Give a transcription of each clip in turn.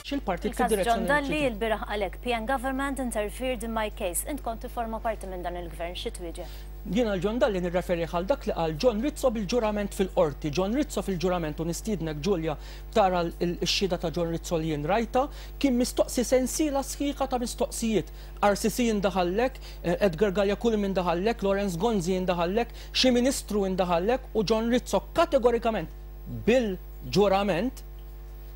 imexxi l-partit Il-każ John fid-direzzjoni li Dalli trid. lbieraħ qal hekk, PN government interfered in my case. Int kont tifforma parti minn dan il-gvern, xi twieġeb? Jiena 'l John Dalli nirreferih għal dak li qal John Rizzo bil-ġurament fil-Qorti. John Rizzo fil-ġurament, u nistiednek Julia tara x-xhieda ta' John Rizzo li jien rajtha, kien mistoqsi sensiela sħiħa ta' mistoqsijiet. RCC indaħallek, Edgar Galea Culm indaħallek, Lawrence Gonzi indaħallek, xi ministru indaħallek u John Rizzo kategorikament bil-ġurament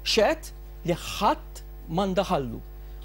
xehed li ħadd ma ndaħallu.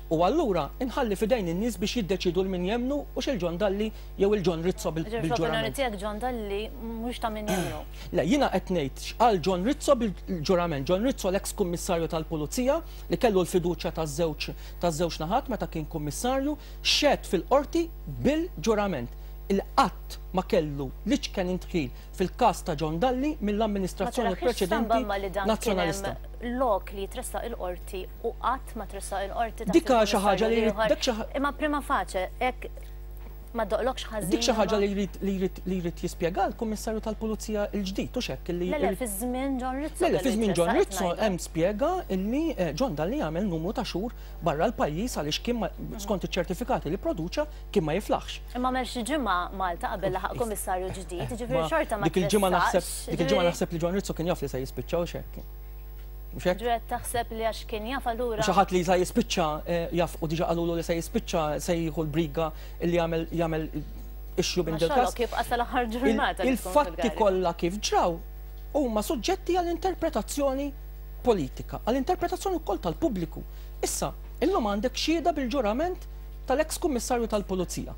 U allura inħalli f'idejn in-nies biex jiddeċiedu 'l min jemmnu hux 'il John Dalli jew 'il John Rizzo Ġifieri fl-opinjoni bil-ġurament. tiegħek John Dalli mhux ta' min jemmnu. Le, jiena qed ngħid x'qal John Rizzo bil-ġurament. John Rizzo l-eks kummissarju tal-Pulizija li kellu l-fiduċja taż-żewġ taż-żewġ naħat meta kien kummissarju, xehed fil-Qorti bil-ġurament li qatt ma kellu l-iċken indħil fil-każ ta' John Dalli Ma mill-amministrazzjoni taraħiex stramba preċedenti imma li dan kien hemm Nazzjonalista. lok li jitressaq il-Qorti u qatt ma tressaq il-Qorti taħt Dik xi ħaġa il-Kummissarju li jrid l-ieħor. dak xi Imma prima facie hekk ma ddoqlokx Dik ħażin xi ħaġa imma li jrid li jrid li jrid jispjega l-Kummissarju tal-Pulizija l-ġdid hux hekk illi Le le jrid fi żmien John Rizzo Le le fi kellu żmien John jitressaq qed Rizzo ngħidlek. hemm spjega illi John Dalli għamel numru ta' xhur barra l-pajjiż għaliex kien ma skont iċ-ċertifikati li pproduċa kien ma jiflaħx. Imma għamel xi ġimgħa Malta qabel laħaq kummissarju ġdid, jiġifieri Ma xorta ma dik il-ġimgħa naħseb tressaqx, dik il-ġimgħa jiġifieri naħseb li John Rizzo kien jaf li se jispiċċa hux hekk. Mhux hekk? Ġifieri qed taħseb li għax kien jaf allura. Xi ħadd li se jispiċċa jaf u diġà qalulu li se jispiċċa se jieħu l-briga li jagħmel jagħmel issue minn Ma dil-każ. xogħlok jibqa' sal-aħħar ġurnata li tkun Il-fatti fil-kariga. kollha kif ġraw huma suġġetti għal interpretazzjoni politika, għal interpretazzjoni wkoll tal-pubbliku. Issa, illum għandek xhieda bil-ġurament tal-eks kummissarju tal-Pulizija.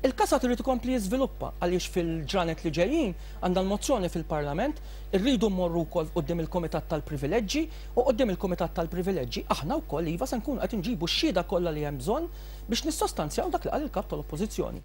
Il-każ għad irid ikompli jiżviluppa għaliex fil-ġranet li ġejjin għandha l-mozzjoni fil-Parlament, irridu mmorru wkoll quddiem il-Kumitat tal-Privileġġi u quddiem il-Kumitat tal-Privileġġi aħna wkoll iva se nkunu qed inġibu x-xhieda kollha li hemm bżonn biex nissostanzjaw dak li qal il-Kap tal-Oppożizzjoni.